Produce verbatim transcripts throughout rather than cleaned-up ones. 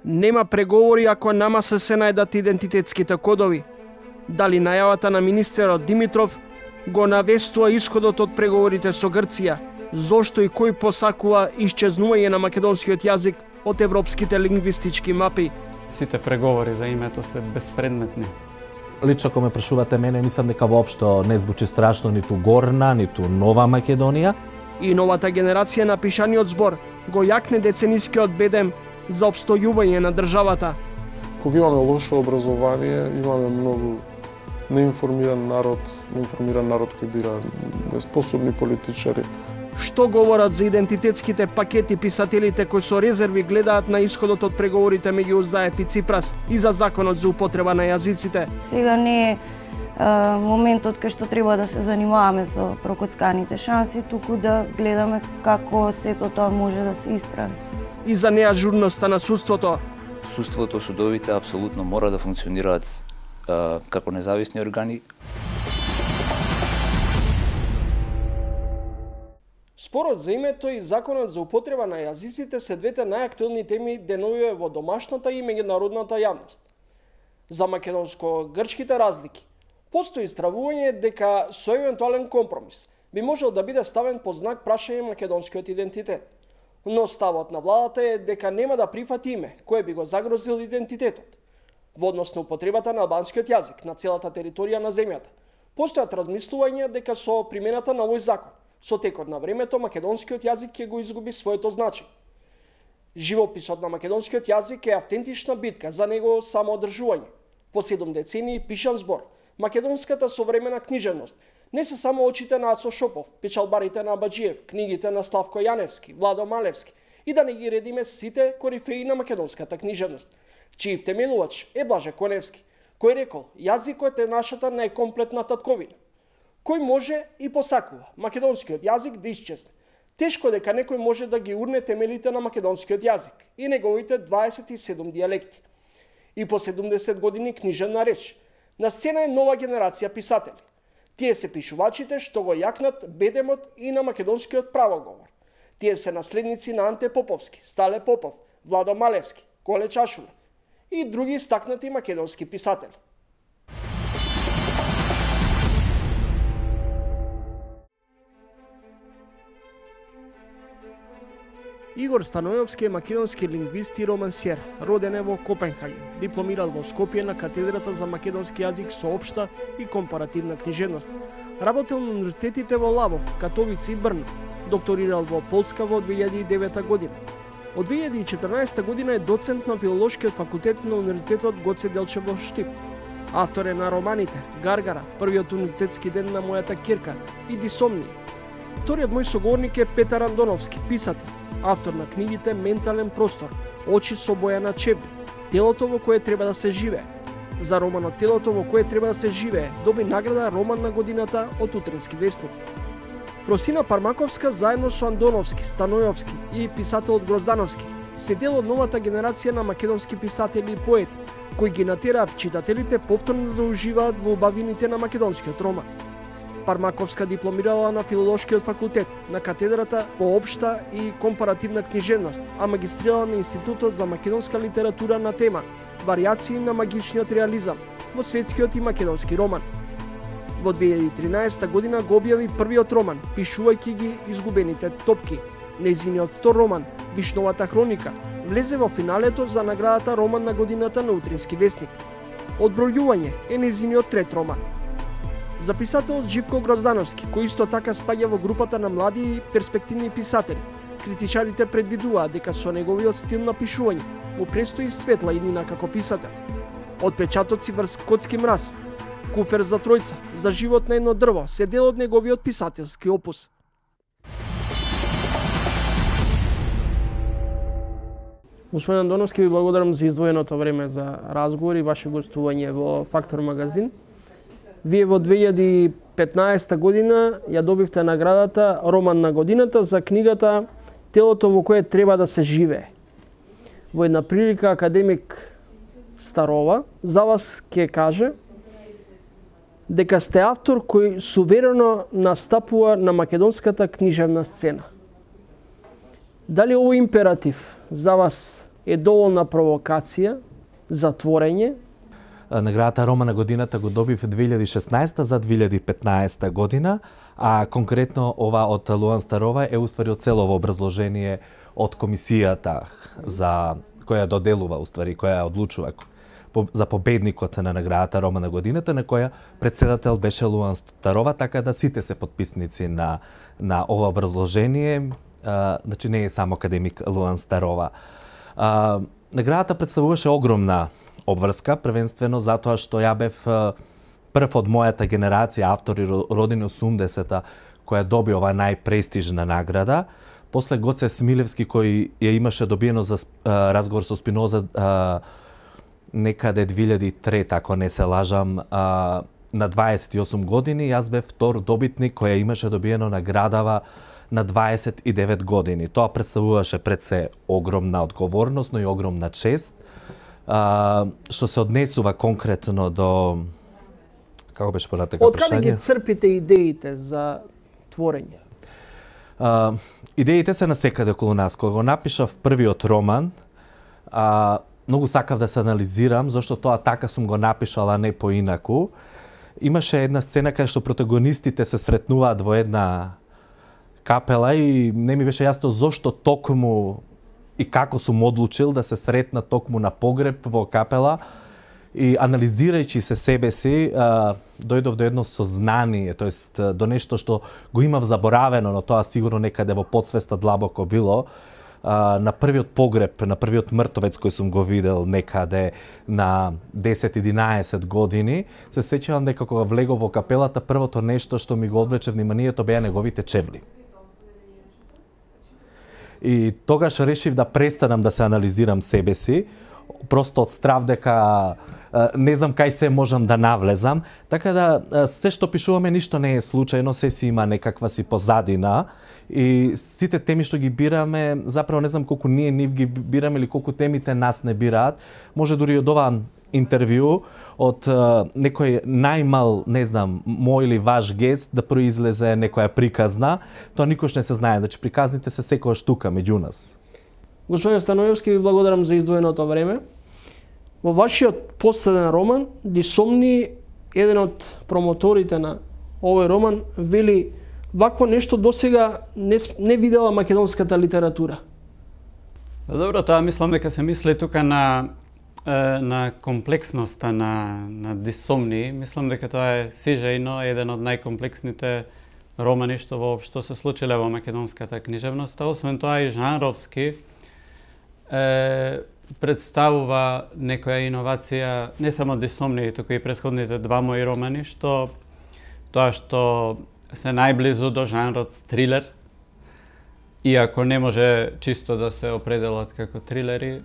Нема преговори ако нама се се најдат идентитетските кодови. Дали најавата на министерот Димитров го навестува исходот од преговорите со Грција? Зошто и кој посакува исчезнување на македонскиот јазик од европските лингвистички мапи? Сите преговори за името се безпредметни. Лично ако ме прашувате мене, мислам дека воопшто не звучи страшно ниту Горна, ниту Нова Македонија. И новата генерација на пишаниот збор го јакне деценискиот бедем за обстојување на државата. Кога имаме лошо образование, имаме многу неинформиран народ, неинформиран народ кој бира неспособни политичари. Што говорат за идентитетските пакети писателите кои со резерви гледаат на исходот од преговорите меѓу Заев и Ципрас и за законот за употреба на јазиците? Сега не е моментот кај што треба да се занимаваме со прокоцканите шанси, туку да гледаме како сето тоа може да се исправи. И за неажурноста на судството. Судството, судовите апсолутно мора да функционираат а, како независни органи. Спорот за името и законот за употреба на јазиците се двете најактуелни теми деновиве во домашната и меѓународната јавност. За македонско-грчките разлики постои стравување дека со евентуален компромис би можел да биде ставен под знак прашање македонскиот идентитет. Но ставот на владата е дека нема да прифати име кое би го загрозил идентитетот. Во однос на употребата на албанскиот јазик на целата територија на земјата, постојат размислувања дека со примената на овој закон, со текот на времето македонскиот јазик ќе го изгуби своето значење. Живописот на македонскиот јазик е автентична битка за него самоодржување. По седум децении пишан збор, македонската современа книжевност не се само очите на Ацо Шопов, печалбарите на Абаджиев, книгите на Славко Јаневски, Владо Малевски и да не ги редиме сите корифеи на македонската книжевност, чиј втемелувач е Блаже Коневски, кој рекол јазикот е нашата најкомплетна татковина. Кој може и посакува македонскиот јазик да исчезне. Тешко дека некој може да ги урне темелите на македонскиот јазик и неговите дваесет и седум дијалекти. И по седумдесет години книжевна реч, на сцена е нова генерација писатели. Тие се пишувачите што го јакнат бедемот и на македонскиот правоговор. Тие се наследници на Анте Поповски, Стале Попов, Владо Малевски, Коле Чашула и други стакнати македонски писатели. Игор Станојовски е македонски лингвист и романсер, роден е во Копенхаген, дипломирал во Скопје на катедрата за македонски јазик со општа и компаративна книжевност. Работел на универзитетите во Лавов, Катовица и Брно, докторирал во Полска во две илјади и девета година. Од две илјади и четрнаесета година е доцент на филолошкиот факултет на Универзитетот Гоце Делчев во Штип. Автор е на романите Гаргара, првиот универзитетски ден на мојата ќерка и Дисомни. Вториот мој соговорник е Петар Андоновски, писател, автор на книгите Ментален простор, Очи со Бојана Чебли, Телото во кое треба да се живее. За романот Телото во кое треба да се живее доби награда Роман на годината од Утренски вестник. Фросина Пармаковска заедно со Андоновски, Станојовски и писателот Гроздановски се дел од новата генерација на македонски писатели и поети, кои ги натераат читателите повторно да уживаат во убавините на македонскиот роман. Пармаковска дипломирала на филолошкиот факултет, на катедрата по општа и компаративна книжевност, а магистрирала на Институтот за македонска литература на тема Варијации на магичниот реализам во светскиот и македонски роман. Во две илјади и тринаесета година го објави првиот роман, пишувајќи ги Изгубените топки. Нејзиниот втор роман, Вишновата хроника, влезе во финалето за наградата Роман на годината на Утренски вестник. Одбројување е нејзиниот трет роман. За писателот Живко Гроздановски, кој исто така спаѓа во групата на млади и перспективни писатели, критичарите предвидуваат дека со неговиот стил на пишување му престои светла иднина како писател. Отпечатоци врз Котски мраз, Куфер за тројца, За живот на едно дрво се дел од неговиот писателски опус. Господин Андоновски, ви благодарам за издвоеното време за разговор и ваше гостување во Фактор магазин. Вие во две илјади и петнаесета година ја добивте наградата Роман на годината за книгата Телото во кое треба да се живее. Во една прилика академик Старова за вас ќе каже дека сте автор кој суверено настапува на македонската книжевна сцена. Дали овој императив за вас е доволна провокација за творење? Наградата Рома на годината го добив две илјади и шеснаесета за две илјади и петнаесета година, а конкретно ова од Луан Старова е уствари од целово образложение од комисијата за која доделува, уствари, која одлучува за победникот на наградата Рома на годината, на која председател беше Луан Старова, така да сите се потписници на на ова образложение, а, значи не е само академик Луан Старова. А, наградата представуваше огромна обврска, првенствено затоа што ја бев прв од мојата генерација автори родени осумдесета која доби оваа најпрестижна награда. После Гоце Смилевски кој ја имаше добиено за а, разговор со Спиноза а, некаде две илјади и трета, ако не се лажам, а, на дваесет и осум години, јас бев втор добитник која имаше добиено наградава на дваесет и девет години. Тоа представуваше пред се огромна одговорност, но и огромна чест. А, што се однесува конкретно до... Како беше понатака Од прашање? каде ги црпите идеите за творење? А, идеите се насекаде околу нас. Кога го напишав првиот роман, а, многу сакав да се анализирам, зашто тоа така сум го напишала, не поинаку. Имаше една сцена кај што протагонистите се сретнуваат во една капела и не ми беше јасно зошто токму и како сум одлучил да се сретна токму на погреб во капела и анализирајќи се себе си, а, дојдов до едно сознание, тоест до нешто што го имав заборавено, но тоа сигурно некаде во подсвеста длабоко било. А, на првиот погреб, на првиот мртовец кој сум го видел некаде на десет-единаесет години, се сеќавам дека кога влегов во капелата, првото нешто што ми го одвлече вниманието беа неговите чевли. И тогаш решив да престанам да се анализирам себе си, просто од страв дека не знам кај се можам да навлезам, така да се што пишуваме ништо не е случајно, се си има некаква си позадина и сите теми што ги бираме, заправо не знам колку ние нив ги бираме или колку темите нас не бираат. Може дури од ова интервју од uh, некој најмал, не знам, мој или ваш гест да произлезе некоја приказна, тоа никош не се знае, значи приказните се секоја штука меѓу нас. Господин Станоевски, ви благодарам за издвоеното време. Во вашиот последен роман, Дисомни, еден од промоторите на овој роман, вели вакво нешто досега не, не видела македонската литература. Добро, тоа мислам дека се мисли тука на на комплексноста на на Дисомни. Мислам дека тоа е сижајно еден од најкомплексните романи што воопшто се случиле во македонската книжевност. Освен тоа и жанровски е, представува некоја иновација не само Дисомни, туку и претходните два мои романи, што тоа што се најблизу до жанрот трилер, иако не може чисто да се определат како трилери.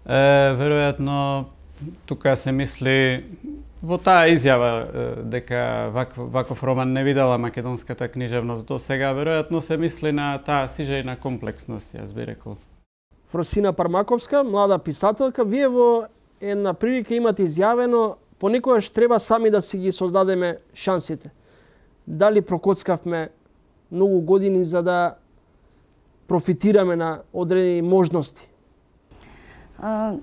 Е, веројатно, тука се мисли во таа изјава е, дека ваков, ваков роман не видела македонската книжевност до сега, веројатно се мисли на таа сижајна комплексност, јас би рекол. Фросина Пармаковска, млада писателка, вие во една прилика имате изјавено понекогаш треба сами да си ги создадеме шансите. Дали прокоцкавме многу години за да профитираме на одредени можности? А,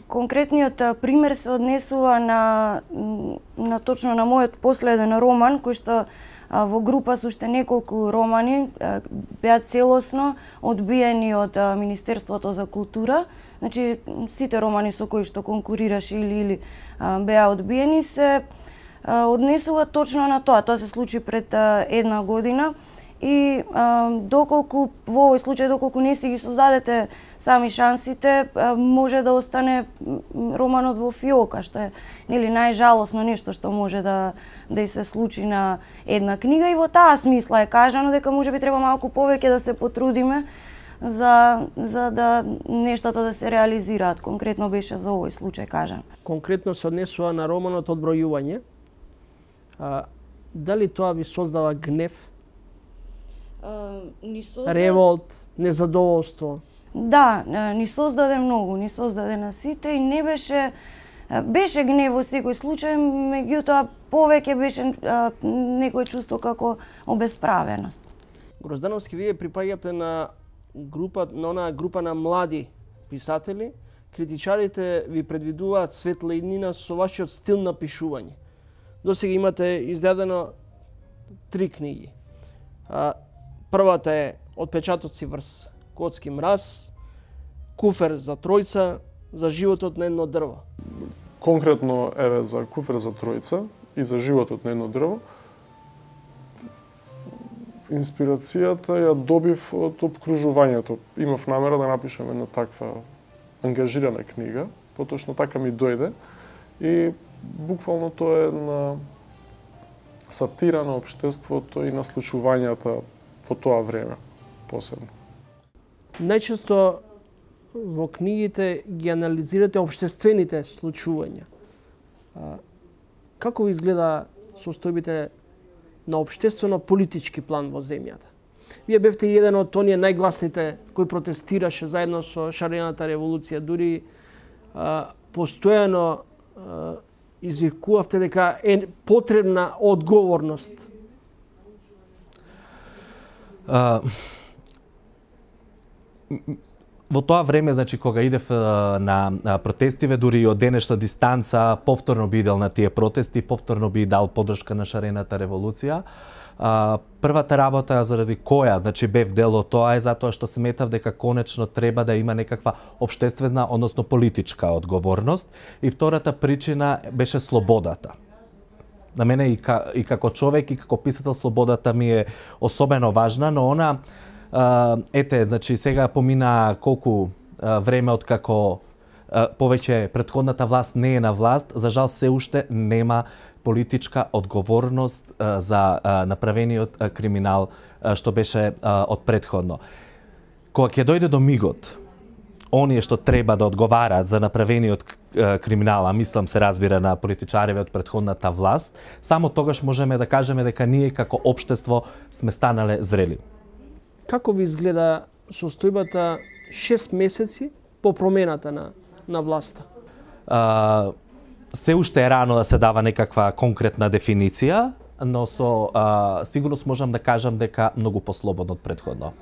конкретниот пример се однесува на, на точно на мојот последен роман, кој што а, во група со уште неколку романи а, беа целосно одбиени од а, Министерството за култура. Значи, сите романи со кои што конкурираше или или а, беа одбиени се а, однесува точно на тоа. Тоа се случи пред а, една година. И а, доколку во овој случај, доколку не си ги создадете сами шансите, а, може да остане романот во фиока, што е нели најжалосно нешто што може да да и се случи на една книга. И во таа смисла е кажано дека можеби треба малку повеќе да се потрудиме за за да нештата да се реализираат. Конкретно беше за овој случај кажано. Конкретно се однесува на романот Одбројување. А, дали тоа ви создава гнев? Uh, ни создаде... Револт, незадоволство. Да, ни создаде многу, ни создаде на сите и не беше беше гнев во секој случај, меѓутоа повеќе беше а, некој чувство како обесправеност. Гроздановски, вие припаѓате на група, на онаа група на млади писатели, критичарите ви предвидуваат светла иднина со вашиот стил на пишување. Досега имате издадено три книги. А, првата е Отпечатоци врз Котски мраз, Куфер за тројца, за животот на едно дрво. Конкретно еве за Куфер за тројца и за животот на едно дрво, инспирацијата ја добив од опкружувањето. Имав намера да напишам една таква ангажирана книга, поточно така ми дојде и буквално тоа е една сатира на општеството и на случувањата во тоа време, посебно. Најчесто во книгите ги анализирате општествените случувања. А, како ви изгледа состојбите на општествено-политички план во земјата? Вие бевте еден од оние најгласните кој протестираше заедно со шарената револуција, дури а, постојано а, извикувавте дека е потребна одговорност. А, во тоа време, значи, кога идев на протестиве, дури и од денешна дистанца, повторно би идел на тие протести, повторно би дал поддршка на шарената револуција. А, првата работа заради која, значи, бев дел од тоа е затоа што сметав дека конечно треба да има некаква општествена, односно политичка одговорност. И втората причина беше слободата. На мене и, ка, и како човек и како писател слободата ми е особено важна, но она Uh, ете, значи сега помина колку uh, време од како uh, повеќе претходната власт не е на власт, за жал се уште нема политичка одговорност uh, за uh, направениот uh, криминал uh, што беше uh, од претходно. Кога ќе дојде до мигот, оние што треба да одговараат за направениот uh, криминал, а мислам се разбира на политичариве од претходната власт, само тогаш можеме да кажеме дека ние како општество сме станале зрели. Како ви изгледа состојбата шест месеци по промената на, на власта? А, се уште е рано да се дава некаква конкретна дефиниција, но со а, сигурност можам да кажам дека многу послободно од претходно.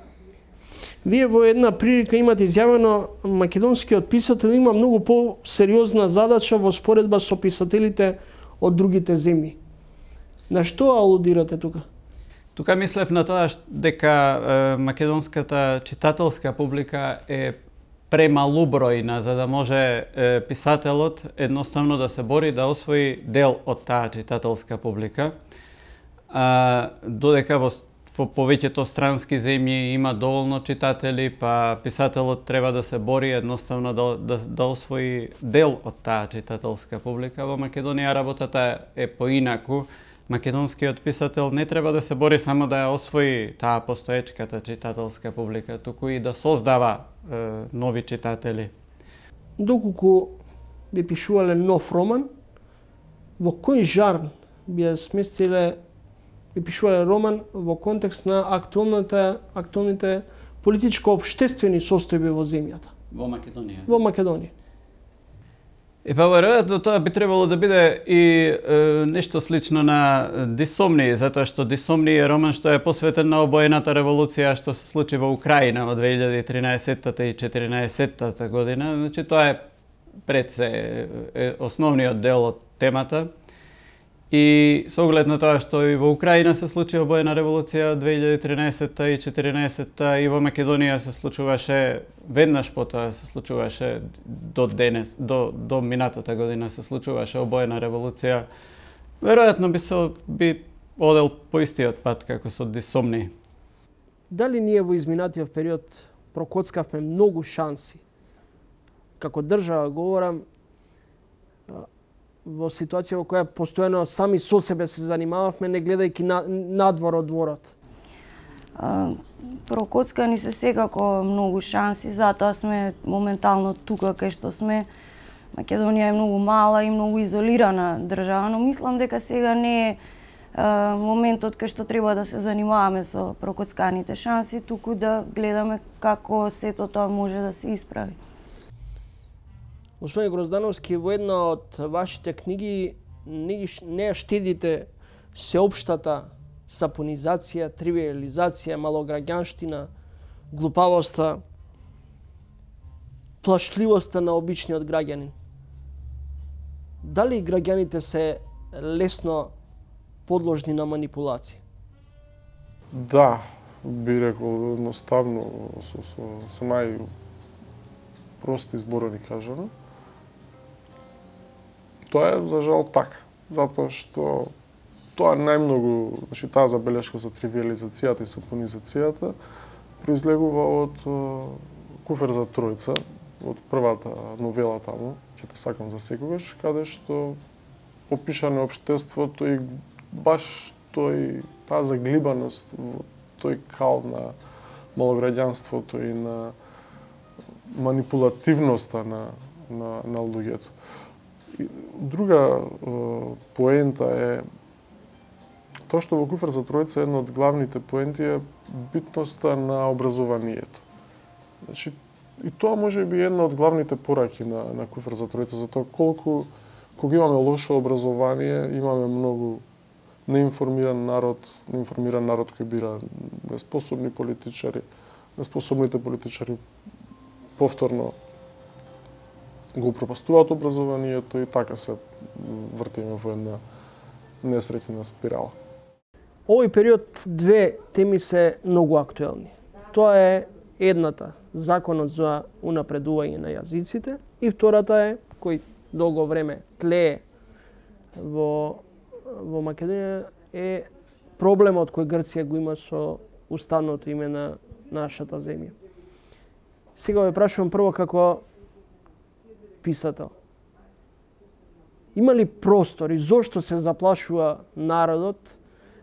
Вие во една прилика имате изјавено македонскиот писател има многу по-сериозна задача во споредба со писателите од другите земји. На што алудирате тука? Тука мислев на тоа дека е, македонската читателска публика е премалубројна за да може е, писателот едноставно да се бори да освои дел од таа читателска публика. А, додека во, во повеќето странски земји има доволно читатели, па писателот треба да се бори едноставно да, да, да освои дел од таа читателска публика. Во Македонија работата е поинаку. Македонскиот писател не треба да се бори само да ја освои таа постоечката читателска публика, туку и да создава е, нови читатели. Доколку би пишувале нов роман, во кој жар би ја сместиле, би пишувале роман во контекст на актуалната, актуалните политичко-општествени состојби во земјата? Во Македонија. Во Македонија. И па веројатно тоа би требало да биде и е, нешто слично на Дисомни, затоа што Дисомни е роман што е посветен на обоената револуција што се случи во Украина во две илјади и тринаесетта и четиринаесетта година. Значи тоа е пред се е основниот дел од темата. И со оглед на тоа што и во Украина се случи обоена револуција две илјади и тринаесетта и четиринаесетта и во Македонија се случуваше веднаш потоа се случуваше до денес, до до минатата година се случуваше обоена револуција. Веројатно би се би одел по истиот пат како со Дисомни. Дали ние во изминатиот период прокоцкавме многу шанси? Како држава говорам, во ситуација во која постојано сами со себе се занимававме, не гледајќи на, надвор од дворот? А, прокоцкани се секако многу шанси, затоа сме моментално тука кај што сме. Македонија е многу мала и многу изолирана држава, но мислам дека сега не е а, моментот кај што треба да се занимаваме со прокоцканите шанси, туку да гледаме како сето тоа може да се исправи. Господин Гроздановски, во една од вашите книги не, не штедите сеопштата сапонизација, тривиализација, малограѓанштина, глупавоста. плашливоста на обичниот граѓанин? Дали граѓаните се лесно подложни на манипулација? Да, би рекол едноставно со, со, со најпрости зборови кажано. Тоа е за жал така, затоа што тоа најмногу, значи таа забелешка за тривиализацијата и сапонизацијата произлегува од Куфер за тројца, од првата новела таму, ќе те сакам за секогаш, каде што опишане општеството и баш тој таа заглибаност во тој кал на малограѓанството и на манипулативноста на на на луѓето. Друга поента е тоа што во Куфер за тројца една од главните поенти е битноста на образованието. Значи, и тоа може би една од главните пораки на, на Куфер за тројца, за тоа колку, кога имаме лошо образование, имаме многу неинформиран народ, неинформиран народ кој бира неспособни политичари, неспособните политичари повторно го упропастуваат образованието и така се вртиме во една несреќна спирала. Овој период две теми се многу актуелни. Тоа е едната, законот за унапредување на јазиците, и втората е, кој долго време тлее во, во Македонија, е проблемот кој Грција го има со уставното име на нашата земја. Сега ве прашувам прво како писател. Има ли простор и зошто се заплашува народот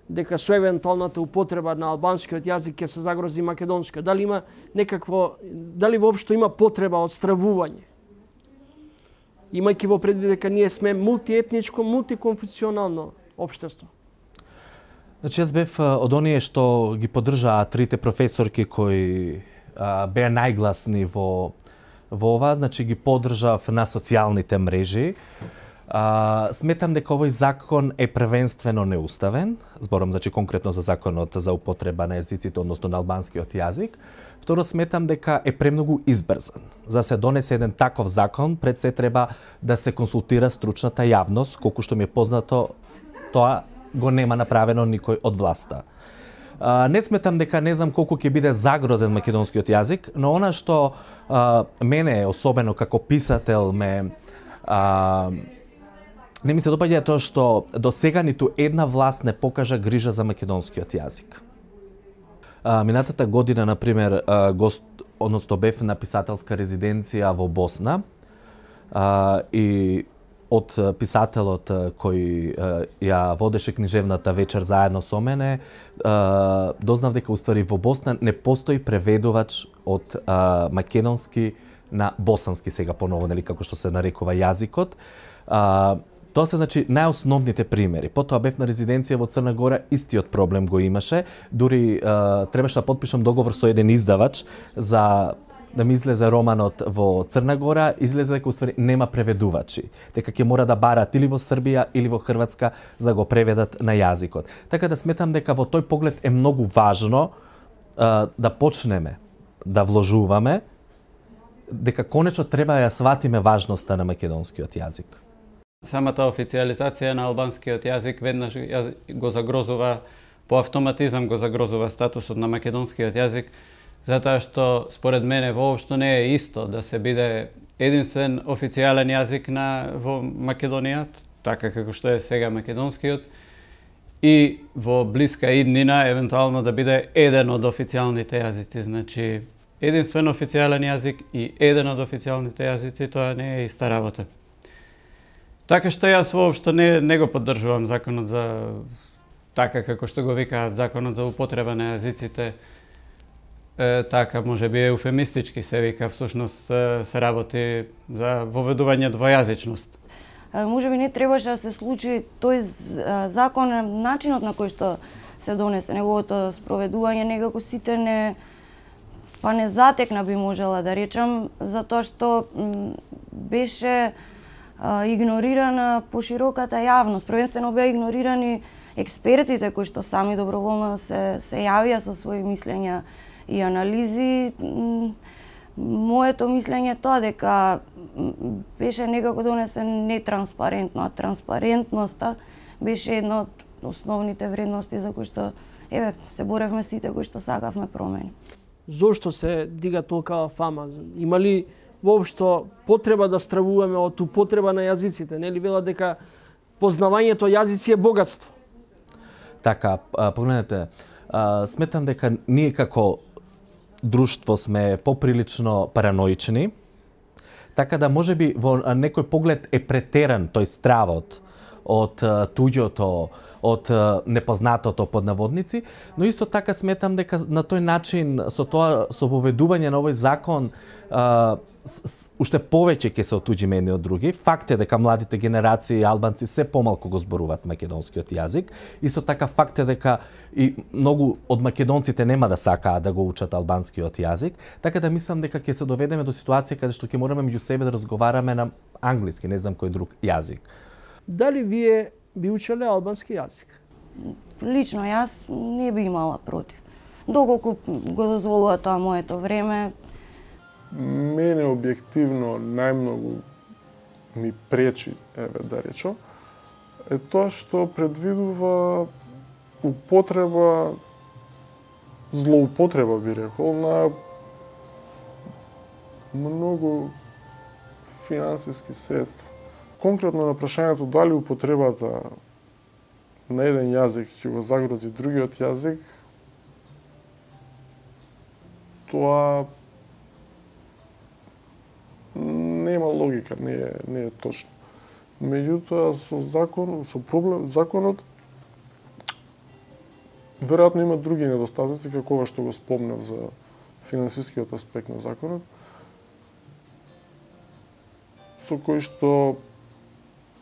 дека со евентуалната употреба на албанскиот јазик ќе се загрози македонскиот? Дали има некакво, дали воопшто има потреба од стравување? Имајќи во предвид дека ние сме мултиетничко, мултиконфесионално општество. Значи, јас бев од оние што ги поддржаа трите професорки кои а, беа најгласни во во ова, значи ги поддржав на социјалните мрежи. А, сметам дека овој закон е првенствено неуставен, зборам значи конкретно за законот за употреба на јазиците, односно на албанскиот јазик. Второ, сметам дека е премногу избрзан. За да се донесе еден таков закон, пред се треба да се консултира стручната јавност, колку што ми е познато, тоа го нема направено никој од власта. А, не сметам дека не знам колку ќе биде загрозен македонскиот јазик, но она што а, мене особено како писател ме а, не ми се допаѓа тоа што до сега ниту една власт не покажа грижа за македонскиот јазик. А, минатата година, например, а, гост, односно бев на писателска резиденција во Босна а, и од писателот кој ја водеше книжевната вечер заедно со мене, дознав дека уствари во Босна не постои преведувач од македонски на босански, сега поново, нели, како што се нарекува јазикот. Тоа се, значи, најосновните примери. Потоа бев на резиденција во Црна Гора, истиот проблем го имаше. Дури требаше да потпишам договор со еден издавач за да ми излезе романот во Црна Гора, излезе дека уствари нема преведувачи, дека ќе мора да барат или во Србија или во Хрватска за го преведат на јазикот. Така да сметам дека во тој поглед е многу важно а, да почнеме да вложуваме, дека конечно треба да ја сватиме важноста на македонскиот јазик. Самата официализација на албанскиот јазик веднаш го загрозува, по автоматизам го загрозува статусот на македонскиот јазик, затоа што според мене воопшто не е исто да се биде единствен официјален јазик на во Македонија, така како што е сега македонскиот, и во блиска иднина евентуално да биде еден од официјалните јазици, значи единствен официјален јазик и еден од официјалните јазици, тоа не е иста работа. Така што јас воопшто не не го поддржувам законот за така како што го викаат законот за употреба на јазиците. Е, така, може би еуфемистички се вика, всушност се работи за воведување двојазичност. Може би не требаше да се случи тој закон, начинот на кој што се донесе, неговото спроведување, некако сите не, па не затекна би можела да речам, затоа што беше а, игнорирана пошироката јавност. Првенствено беа игнорирани експертите кои што сами доброволно се, се јавија со своји мислења и анализи. Моето мислење е тоа дека беше некако донесен нетранспарентно, а транспарентноста беше една од основните вредности за кои што еве се боревме сите кои што сакавме промени. Зошто се дига толкава фама? Има ли воопшто потреба да стравуваме од употреба на јазиците? Нели велат дека познавањето јазици е богатство? Така, погледнете, сметам дека ние како друштво сме поприлично параноични, така да можеби во некој поглед е претеран тој стравот од туѓото, од непознатото под наводници, но исто така сметам дека на тој начин со тоа со воведување на овој закон а, с, с, уште повеќе ќе се отуѓиме едни од други. Факт е дека младите генерации албанци се помалку го зборуваат македонскиот јазик. Исто така факт е дека и многу од македонците нема да сакаат да го учат албанскиот јазик, така да мислам дека ќе се доведеме до ситуација каде што ќе мораме меѓу себе да разговараме на англиски, не знам кој друг јазик. Дали вие би учеле албански јазик? Лично јас не би имала против. Доколку го дозволува тоа моето време. Мене објективно најмногу ми пречи, еве да речам, е тоа што предвидува употреба, злоупотреба би рекол, на многу финансиски средства. Конкретно на прашањето дали употребата на еден јазик ќе го загрози другиот јазик, тоа нема логика, не е, не е точно. Меѓутоа, со закон, со проблем, законот веројатно има други недостатоци, како ова што го спомнав за финансискиот аспект на законот, со кој што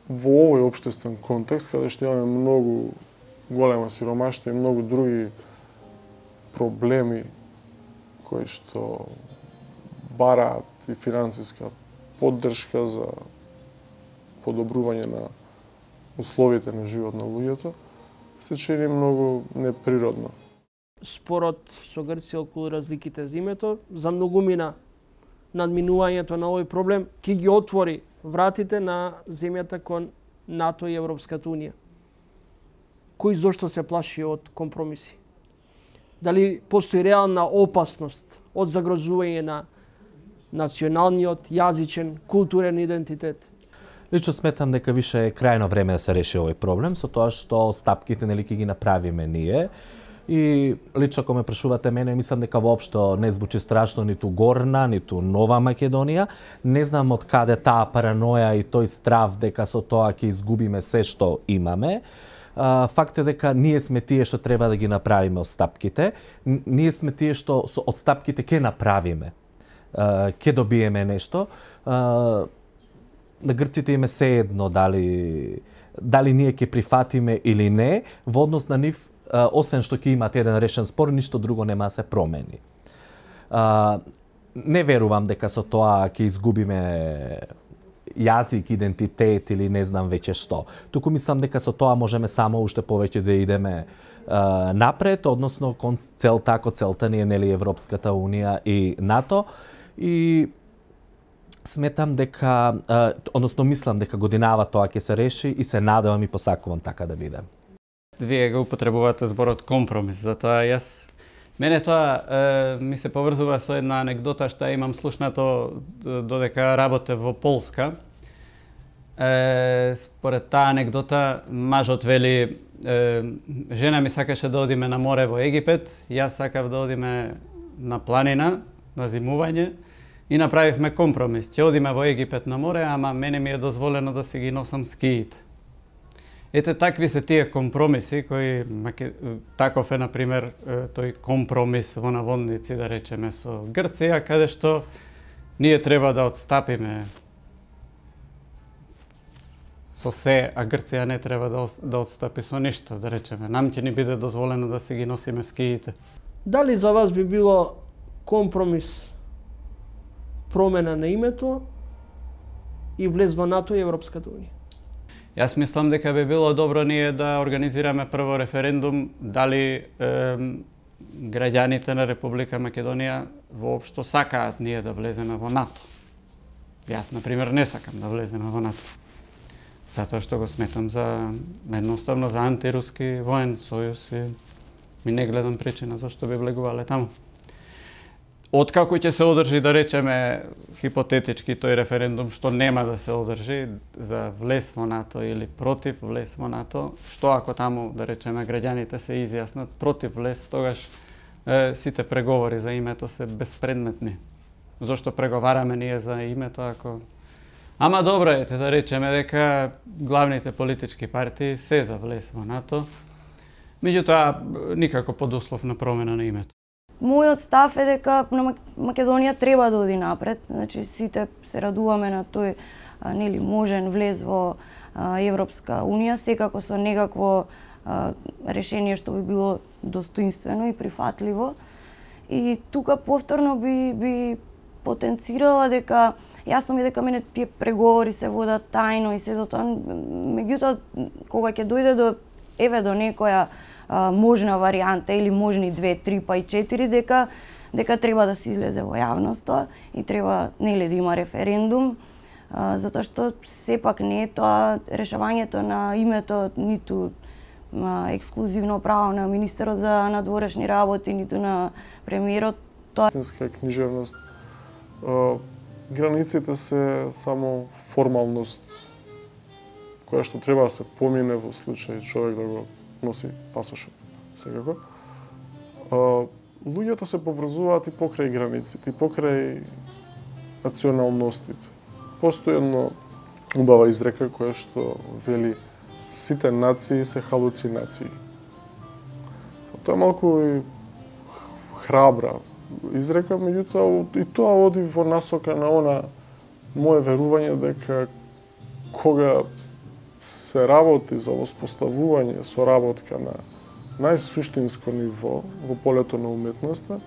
во овој општествен контекст, каде што имаме многу голема сиромаштва и многу други проблеми кои што бараат и финансиска поддршка за подобрување на условите на живот на луѓето, се чини многу неприродно. Спорот со Грција околу разликите за името, за многумина надминувањето на овој проблем ќе ги отвори вратите на земјата кон НАТО и Европската Унија. Кој зошто се плаши од компромиси? Дали постои реална опасност од загрозување на националниот, јазичен, културен идентитет? Лично сметам дека више е крајно време да се реши овој проблем, со тоа што стапките нели ќе ги направиме ние. И лично ако ме прашувате мене, мислам дека воопшто не звучи страшно ниту Горна, ниту Нова Македонија. Не знам од каде таа параноја и тој страв дека со тоа ќе изгубиме се што имаме. Факт е дека ние сме тие што треба да ги направиме од стапките. Ние сме тие што од стапките ќе направиме. Ќе добиеме нешто. На грците им е сеедно дали дали ние ќе прифатиме или не, во однос на нив, освен што ќе имат еден решен спор, ништо друго нема да се промени. Не верувам дека со тоа ќе изгубиме јазик, идентитет или не знам веќе што. Туку мислам дека со тоа можеме само уште повеќе да идеме напред, односно кон целта, ако целта ни е нели Европската Унија и НАТО. И сметам дека, односно мислам дека годинава тоа ќе се реши и се надевам и посакувам така да биде. Вие го употребувате зборот компромис, затоа јас мене тоа е, ми се поврзува со една анегдота што имам слушнато додека работев во Полска. Е, според таа анегдота мажот вели е, жена ми сакаше да одиме на море во Египет, јас сакав да одиме на планина, на зимување и направивме компромис. Ќе одиме во Египет на море, ама мене ми е дозволено да си ги носам скиите. Ете, такви се тие компромиси кои, таков е, например, тој компромис во наводници, да речеме, со Грција, каде што ние треба да отстапиме со се, а Грција не треба да, да отстапи со ништо, да речеме. Нам ќе ни биде дозволено да си ги носиме скиите. Дали за вас би било компромис промена на името и влез во НАТО и Европската Унија? Јас мислам дека би било добро ние да организираме прво референдум дали е, граѓаните на Република Македонија воопшто сакаат ние да влеземе во НАТО. Јас, например, не сакам да влеземе во НАТО. Затоа што го сметам за едноставно за антируски воен сојуз и ми не гледам причина зашто би влегувале таму. Откако ќе се одржи, да речеме, хипотетички тој референдум што нема да се одржи за влез во НАТО или против влез во НАТО, што ако таму, да речеме, граѓаните се изјаснат против влез, тогаш е, сите преговори за името се безпредметни. Зошто преговараме ние за името ако... Ама добро е, да речеме дека главните политички партии се за влез во НАТО, меѓутоа никако под услов на промена на името. Мојот став е дека на Македонија треба да оди напред. Значи сите се радуваме на тој а, нели можен влез во а, Европска унија, секако со некакво а, решение што би било достоинствено и прифатливо. И тука повторно би би потенцирала дека јасно ми дека мене тие преговори се водат тајно и се до тоа, меѓутоа кога ќе дојде до еве до некоја а, можна варијанта или можни две, три па и четири, дека дека треба да се излезе во јавноста и треба нели да има референдум, а, затоа што сепак не е тоа решавањето на името ниту а, ексклузивно право на министерот за надворешни работи, ниту на премиерот. Тоа истинска книжевност. А, границите се само формалност која што треба да се помине во случај човек да го носи пасошот. Секако. А, луѓето се поврзуваат и покрај границите, и покрај националностите. Постои една убава изрека која што вели сите нации се халуцинации. Тоа е малку и храбра изрека, меѓутоа и тоа оди во насока на она мое верување дека кога се работи за воспоставување соработка на најсуштинско ниво во полето на уметноста,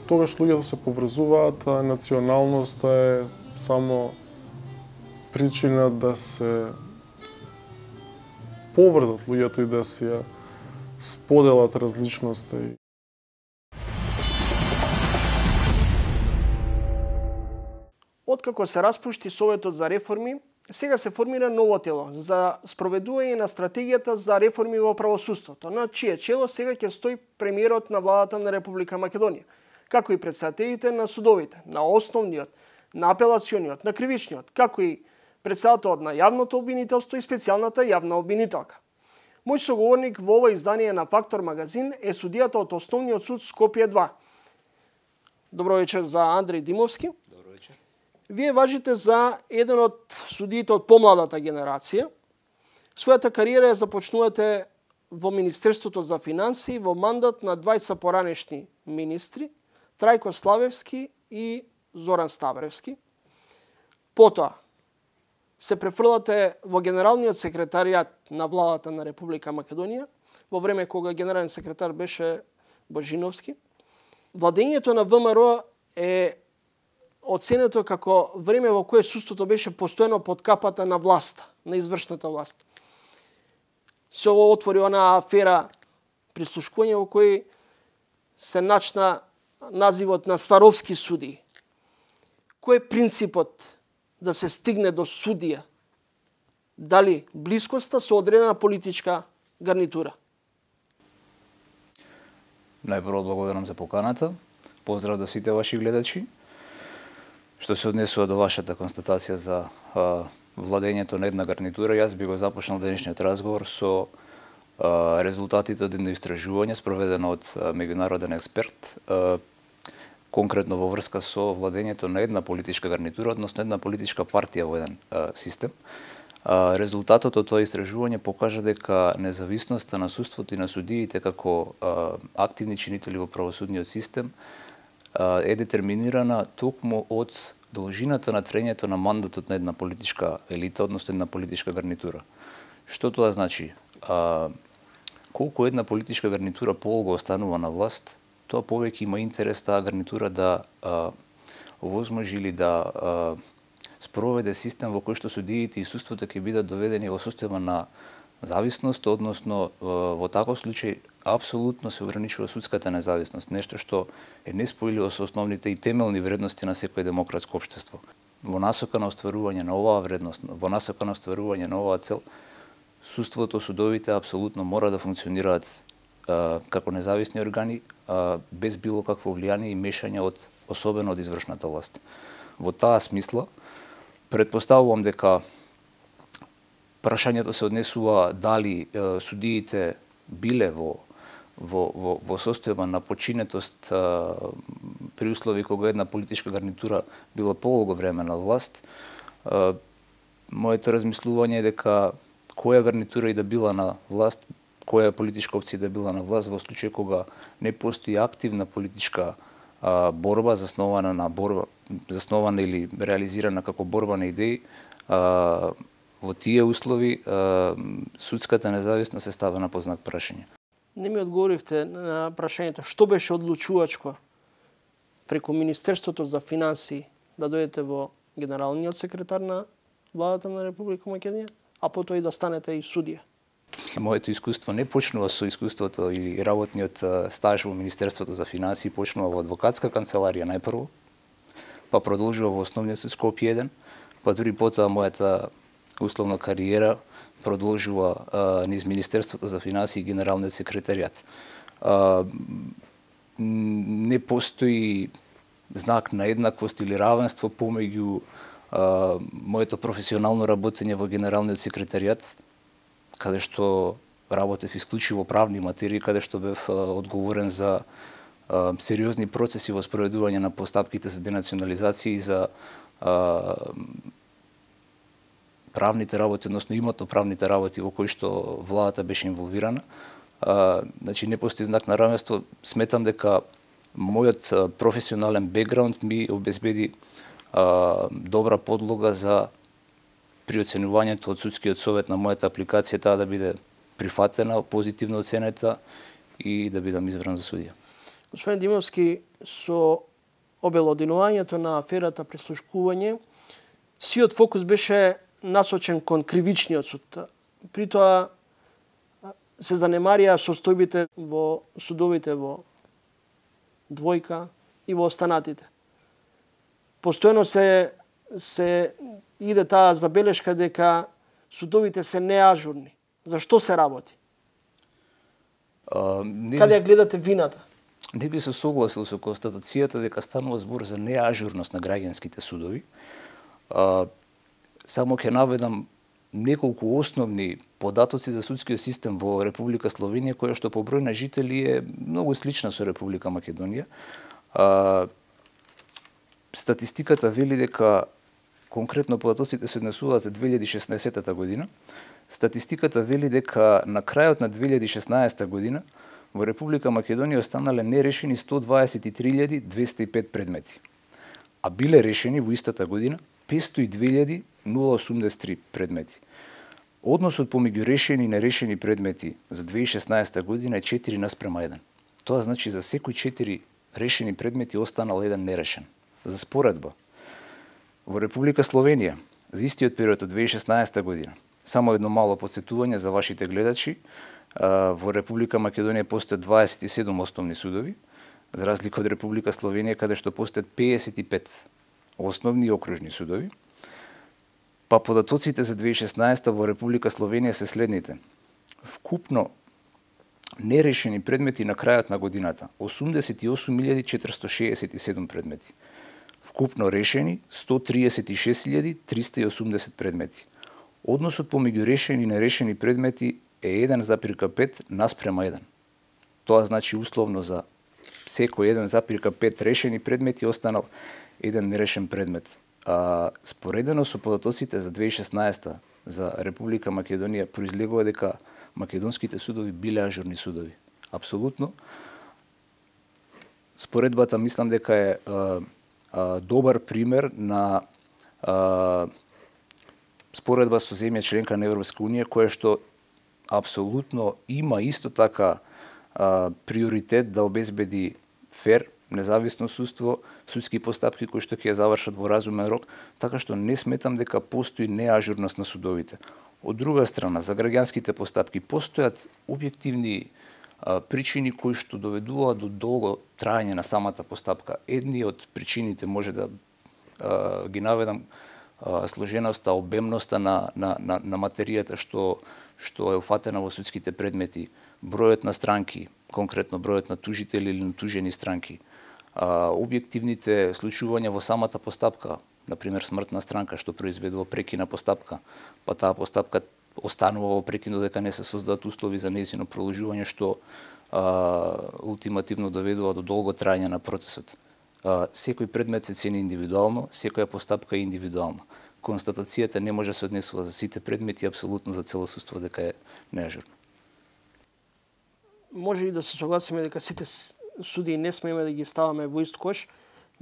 тогаш луѓето се поврзуваат, а националноста е само причина да се поврзат луѓето и да се споделат различноста. Откако се распушти Советот за реформи, сега се формира ново тело за спроведување на стратегијата за реформи во правосудството, на чие чело сега ќе стои премиерот на владата на Република Македонија, како и председателите на судовите, на основниот, на апелациониот, на кривичниот, како и председателот на јавното обвинителство и специјалната јавна обвинителка. Мој соговорник во ова издание на Фактор магазин е судијата од Основниот суд Скопје два. Добро вечер за Андреј Димовски. Добро вечер. Вие важите за еден од судиите од помладата генерација. Својата кариера ја започнувате во Министерството за финансии во мандат на двајца поранешни министри, Трајко Славевски и Зоран Ставревски. Потоа се префрлате во Генералниот секретаријат на владата на Република Македонија, во време кога генерален секретар беше Божиновски. Владењето на ВМРО е оценето како време во кое судството беше постојано под капата на власта, на извршната власт. Се отвори она афера прислушкување во кој се начна називот на Сваровски суди. Кој е принципот да се стигне до судија? Дали блискоста со одредена политичка гарнитура? Најпрво благодарам за поканата. Поздрав до сите ваши гледачи. Што се однесува до вашата констатација за а, владењето на една гарнитура, јас би го започнал денешниот разговор со а, резултатите од едно истражување спроведено од а, меѓународен експерт, а, конкретно во врска со владењето на една политичка гарнитура, односно една политичка партија во еден а, систем. А, резултатот од тоа истражување покажа дека независноста на судството и на судиите како а, активни чинители во правосудниот систем а, е детерминирана токму од должината на траењето на мандатот на една политичка елита, односно една политичка гарнитура. Што тоа значи? А, колку една политичка гарнитура полго останува на власт, тоа повеќе има интерес таа гарнитура да а, овозможи или да а, спроведе систем во кој што судиите и судството ќе бидат доведени во состојба на зависност, односно во таков случај апсолутно се ограничува судската независност, нешто што е неспојливо со основните и темелни вредности на секој демократско општество. Во насока на остварување на оваа вредност, во насока на остварување на оваа цел, судството, судовите апсолутно мора да функционираат а, како независни органи, а, без било какво влијание и мешање од особено од извршната власт. Во таа смисла, предпоставувам дека прашањето се однесува дали е, судиите биле во во во во состојба на починетост е, при услови кога една политичка гарнитура била полого време на власт. Е, моето размислување е дека која гарнитура и да била на власт, која политичка опција да била на власт, во случај кога не постои активна политичка а, борба заснована на борба заснована или реализирана како борба на идеи, а, во тие услови а, судската независност е ставена под знак прашање. Не ми одговоривте на прашањето што беше одлучувачко преку Министерството за финансии да дојдете во генералниот секретар на владата на Република Македонија, а потоа и да станете и судија. Моето искуство не почнува со искуството или работниот стаж во Министерството за финансии, почнува во адвокатска канцеларија најпрво, па продолжува во основниот суд Скопје еден, па дури потоа мојата условна кариера продолжува а, низ Министерството за финансии и Генералниот секретаријат. А, не постои знак на еднаквост или равенство помеѓу а, моето професионално работење во Генералниот секретаријат, каде што работев исклучиво правни материи, каде што бев а, одговорен за а, сериозни процеси во спроведување на постапките за денационализација и за а, правните работи, односно имотно-правните работи во кои што владата беше инволвирана. А, значи не постои знак на равенство. Сметам дека мојот професионален бекграунд ми обезбеди а, добра подлога за при оценувањето од судскиот совет на мојата апликација, таа да биде прифатена, позитивно оценета и да бидам избран за судија. Господин Димовски, со обелоденувањето на аферата прислушкување, сиот фокус беше насочен кон кривичниот суд. При тоа се занемарија состојбите во судовите во двојка и во останатите. Постојано се се иде таа забелешка дека судовите се неажурни. Зашто се работи? А, не Каде ја би, гледате вината? не би се согласил со констатацијата дека станува збор за неажурност на граѓанските судови. А, само ќе наведам неколку основни податоци за судскиот систем во Република Словенија, која што по број на жители е многу слична со Република Македонија. А, статистиката вели дека конкретно податоците се однесуваат за две илјади и шеснаесетта година. Статистиката вели дека на крајот на две илјади и шеснаесетта година во Република Македонија останале нерешени сто дваесет и три илјади двесте и пет предмети, а биле решени во истата година петстотини и две илјади осумдесет и три предмети. Односот помеѓу решени и нерешени предмети за две илјади и шеснаесетта година е четири наспрема еден. Тоа значи за секој четири решени предмети останал еден нерешен. За споредба, во Република Словенија за истиот период од две илјади и шеснаесетта година, само едно мало потсетување за вашите гледачи, во Република Македонија постојат дваесет и седум основни судови, за разлика од Република Словенија каде што постојат педесет и пет основни и окружни судови. Па податоците за две илјади и шеснаесетта во Република Словенија се следните. Вкупно нерешени предмети на крајот на годината осумдесет и осум илјади четиристотини шеесет и седум предмети. Вкупно решени сто триесет и шест илјади триста и осумдесет предмети. Односот помеѓу решени и нерешени предмети е еден запирка пет наспрема еден. Тоа значи условно за секој еден запирка пет решени предмети останал еден нерешен предмет. А, споредено со податоците за две илјади и шеснаесетта за Република Македонија произлегува дека македонските судови биле ажурни судови. Апсолутно. Споредбата мислам дека е а, а, добар пример на а, споредба со земја членка на Европска унија, која што апсолутно има исто така а, приоритет да обезбеди фер, независно судство, судски постапки кои што ќе ја завршат во разумен рок, така што не сметам дека постои неажурност на судовите. Од друга страна, за граѓанските постапки постојат објективни а, причини кои што доведуваат до долго трајање на самата постапка. Едни од причините може да а, ги наведам а, сложеноста, обемноста на, на, на, на материјата што, што е уфатена во судските предмети, бројот на странки, конкретно бројот на тужители или натужени странки, а, објективните случувања во самата постапка, например смртна странка што произведува прекина постапка, па таа постапка останува во прекин додека не се создадат услови за нејзино продолжување што а, ултимативно доведува до долго трајање на процесот. А, секој предмет се цени индивидуално, секоја постапка е индивидуална. Констатацијата не може да се однесува за сите предмети, апсолутно за цело суство дека е неажурно. Може и да се согласиме дека сите судии не смееме да ги ставаме во ист кош,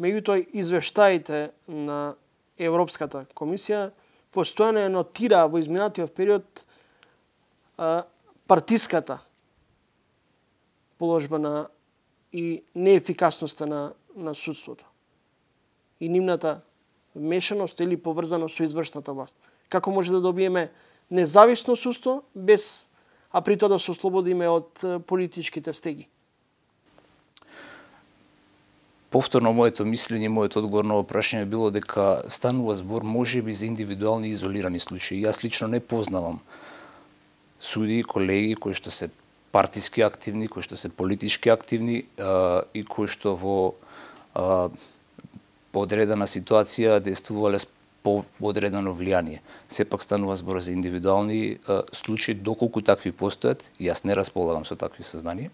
меѓутоа извештаите на Европската комисија постојано нотира во изминатиот период а, партиската положба на и неефикасноста на, на судството и нивната вмешаност или поврзаност со извршната власт. Како може да добиеме независно судство без а при тоа да се ослободиме од политичките стеги? Повторно моето мислење, мојот одговор на прашање било дека станува збор можеби за индивидуални изолирани случаи. Јас лично не познавам судии, колеги кои што се партиски активни, кои што се политички активни а, и кои што во а, подредена ситуација действувале по одредено влијание. Сепак станува збор за индивидуални а, случаи, доколку такви постојат, јас не располагам со такви сознанија,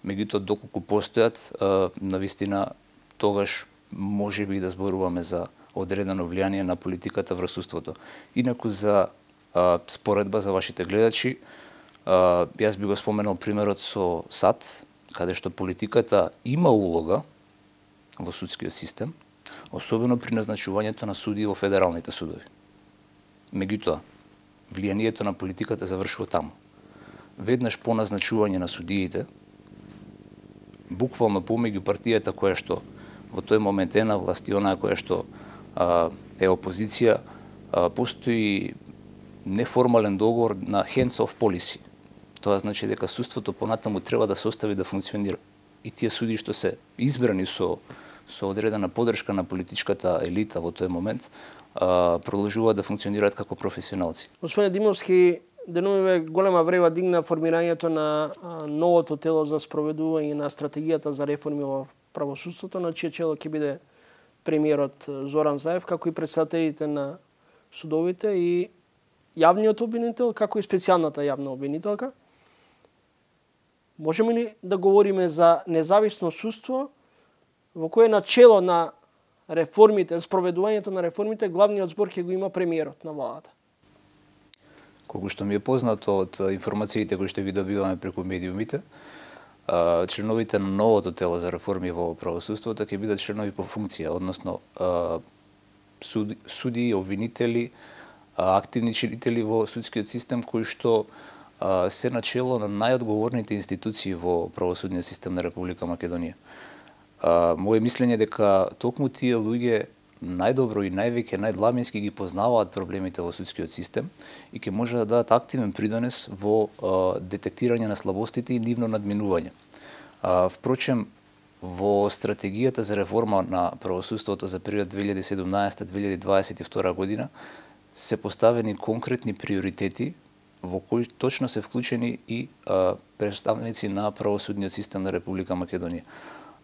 меѓутоа доколку постојат, а, навистина тогаш може би да зборуваме за одредено влијание на политиката врз суството. Инаку за а, споредба за вашите гледачи, а, јас би го споменал примерот со САД, каде што политиката има улога во судскиот систем, особено при назначувањето на судии во федералните судови. Меѓутоа, влијанието на политиката завршува таму. Веднаш по назначување на судиите, буквално помеѓу партијата која што во тој момент е на власт и онаа која што а, е опозиција, а, постои неформален договор на hands-off policy. Тоа значи дека судството понатаму треба да се остави да функционира. И тие суди што се избрани со со одредена поддршка на политичката елита во тој момент, а, продолжуваат да функционираат како професионалци. Господине Димовски, деновиве голема врева дигна формирањето на а, новото тело за спроведување на стратегијата за реформи во правосудството, на чие чело ќе биде премиерот Зоран Заев, како и председателите на судовите и јавниот обвинител, како и специјалната јавна обвинителка. Можеме ли да говориме за независно судство во кое начело на реформите, спроведувањето на реформите, главниот збор ќе го има премиерот на владата? Колку што ми е познато од информациите кои што ги добиваме преку медиумите, членовите на новото тело за реформи во правосудството ќе бидат членови по функција, односно суди, суди обвинители, активни членители во судскиот систем кои што се начело на најодговорните институции во правосудниот систем на Република Македонија. Моje мислење е дека токму тие луѓе најдобро и највеќе, најдламински ги познаваат проблемите во судскиот систем и ќе може да дадат активен придонес во а, детектирање на слабостите и нивно надминување. А, впрочем, во стратегијата за реформа на правосудството за период две илјади и седумнаесета до две илјади дваесет и втора година се поставени конкретни приоритети во кои точно се вклучени и а, представници на правосудниот систем на Република Македонија.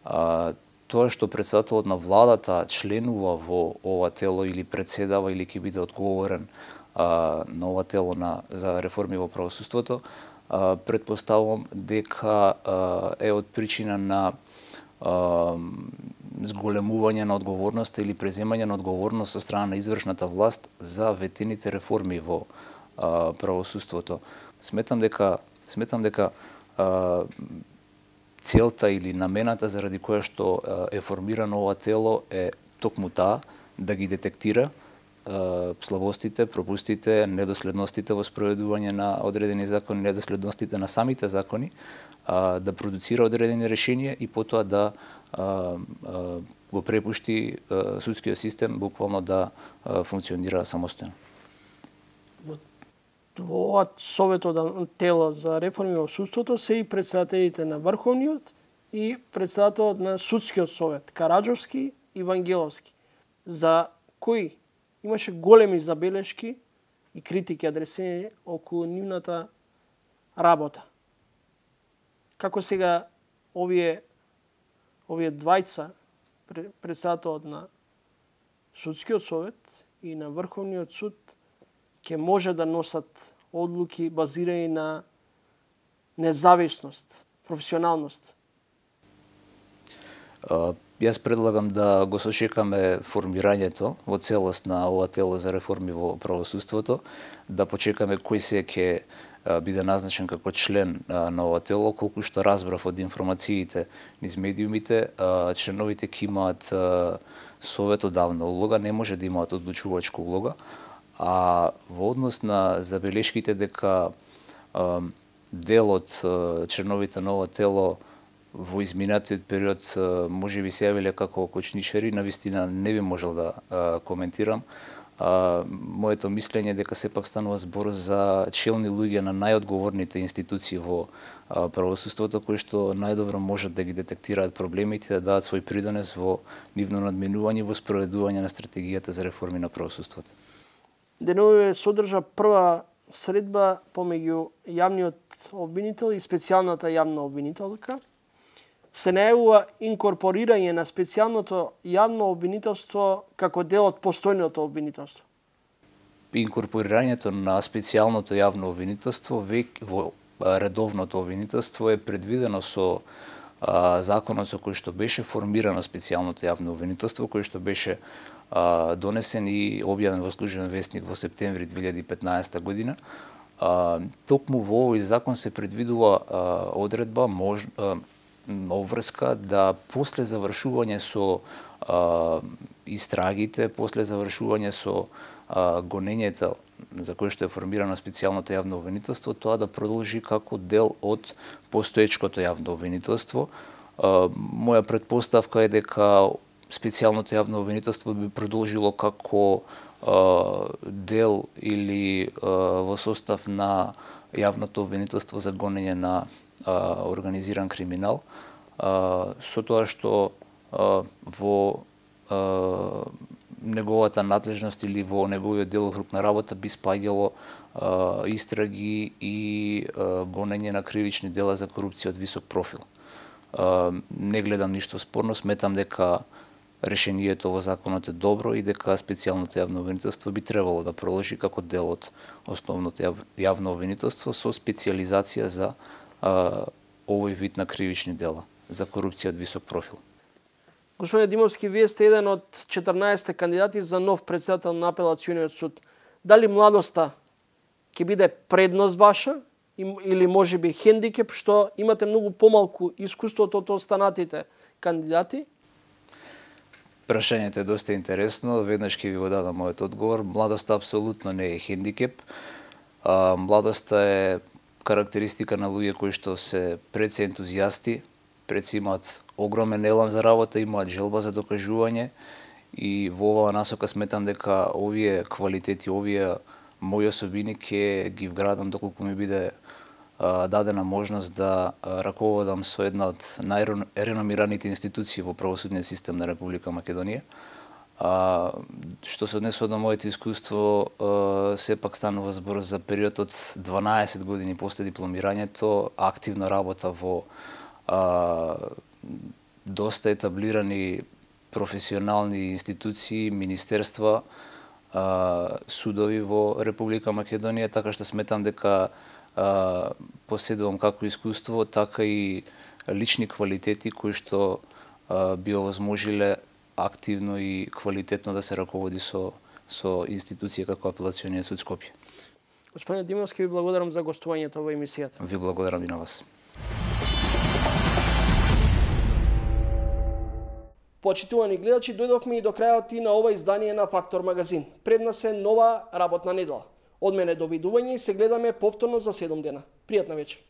А, тоа што председателот на владата членува во ова тело или председава или ќе биде одговорен а, на ова тело на, за реформи во правосудството, а, предпоставувам дека а, е од причина на а, зголемување на одговорноста или преземање на одговорност со страна на извршната власт за ветените реформи во а, правосудството. Сметам дека сметам дека а, целта или намената заради која што е формирано ова тело е токму таа да ги детектира е, слабостите, пропустите, недоследностите во спроведување на одредени закони, недоследностите на самите закони, а, да продуцира одредени решенија и потоа да а, а, го препушти а, судскиот систем буквално да а, функционира самостојно. во ова советодавно тело за реформи во судството се и председателите на Врховниот и председателот на Судскиот совет, Караджовски и Вангеловски, за кои имаше големи забелешки и критики адресирани околу нивната работа. Како сега овие овие двајца, председателот на Судскиот совет и на Врховниот суд, ќе може да носат одлуки базирани на независност, професионалност? Uh, јас предлагам да го сочекаме формирањето во целост на ова тело за реформи во правосудството, да почекаме кој се ќе биде назначен како член на ова тело. Колку што разбрав од информациите низ медиумите, членовите ќе имаат советодавна улога, не може да имаат одлучувачка улога, а во однос на забелешките дека дел од членовите на ова тело во изминатиот период може би се јавиле како кочничари, навистина не би можел да а, коментирам. А, моето мислење е дека сепак станува збор за челни луѓе на најодговорните институции во а, правосудството, кои што најдобро можат да ги детектираат проблемите, да дадат свој придонес во нивно надменување и во спроведување на стратегијата за реформи на правосудството. Деновиве содржа прва средба помеѓу јавниот обвинител и специјалната јавна обвинителка. Се најавува инкорпорирање на специјалното јавно обвинителство како дел од постојното обвинителство. Инкорпорирањето на специјалното јавно обвинителство во редовното обвинителство е предвидено со а, законот со кој што беше формирано специјалното јавно обвинителство, кој што беше а, донесен и објавен во Службен весник во септември две илјади и петнаесета година. А, токму во овој закон се предвидува а, одредба мож, а, обврска да после завршување со а, истрагите, после завршување со а, гонењето за кое што е формирано специјалното јавно обвинителство, тоа да продолжи како дел од постоечкото јавно обвинителство. А, моја предпоставка е дека специјалното јавно обвинителство би продолжило како а, дел или а, во состав на јавното обвинителство за гонење на а, организиран криминал, а, со тоа што а, во а, неговата надлежност или во неговиот делокруг на работа би спаѓало а, истраги и а, гонење на кривични дела за корупција од висок профил. А, не гледам ништо спорно, сметам дека решението во законот е добро и дека специјалното јавно обвинителство би требало да продолжи како дел од основното јавно обвинителство со специјализација за а, овој вид на кривични дела за корупција од висок профил. Господине Димовски, вие сте еден од четрнаесет кандидати за нов председател на апелациониот суд. Дали младоста ќе биде предност ваша или може би хендикеп што имате многу помалку искуство од останатите кандидати? Прашањето е доста интересно, веднаш ќе ви го дадам мојот одговор. Младоста апсолутно не е хендикеп. А, младоста е карактеристика на луѓе кои што се пред се ентузијасти, пред се имаат огромен елан за работа, имаат желба за докажување и во оваа насока сметам дека овие квалитети, овие мои особини ќе ги вградам доколку ми биде а, дадена можност да а, раководам со една од најреномираните институции во правосудниот систем на Република Македонија. А, што се однесува до моето искуство, а, сепак станува збор за период од дванаесет години после дипломирањето, активна работа во а, доста етаблирани професионални институции, министерства, а, судови во Република Македонија, така што сметам дека а, поседувам како искуство, така и лични квалитети кои што а, би овозможиле активно и квалитетно да се раководи со со институција како Апелациониот суд Скопје. Господине Димовски, ви благодарам за гостувањето во емисијата. Ви благодарам и на вас. Почитувани гледачи, дојдовме и до крајот и на ова издание на Фактор магазин. Пред нас е нова работна недела. Од мене довидување и се гледаме повторно за седум дена. Пријатна вечер.